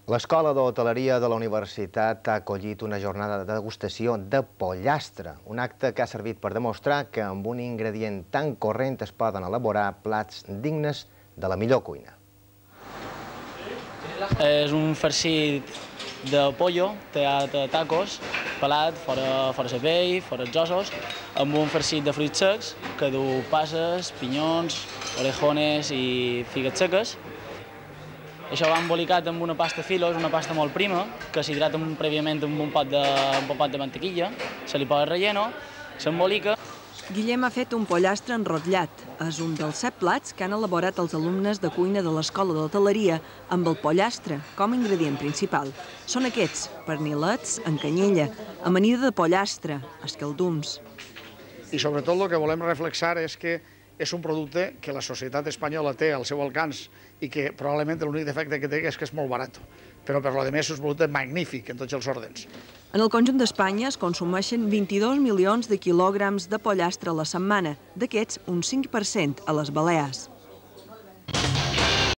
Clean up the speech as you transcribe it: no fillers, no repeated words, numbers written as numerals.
L'Escola d'Hoteleria de la Universitat ha acollit una jornada de degustació de pollastre, un acte que ha servit per demostrar que amb un ingredient tan corrent es poden elaborar plats dignes de la millor cuina. És un farcit de pollo, tallat a tacos, pelat, fora la pell, fora els ossos, amb un farcit de fruits secs que du passes, pinyons, orejones i figues seques. Això va embolicat amb una pasta filo, és una pasta molt prima, que s'hidrata prèviament amb un pot de mantequilla, se li posa relleno, s'embolica. Guillem ha fet un pollastre enrotllat. És un dels 7 plats que han elaborat els alumnes de cuina de l'Escola d'Hoteleria amb el pollastre com a ingredient principal. Són aquests: pernilets en canyella, amanida de pollastre, escaldums. I sobretot el que volem reflexar és que és un producte que la societat espanyola té al seu alcance i que probablement l'únic defecte que té és que és molt barat. Però per la resta és un producte magnífic en tots els ordres. En el conjunt d'Espanya es consumeixen 22 milions de quilògrams de pollastre a la setmana, d'aquests un 5% a les Balears.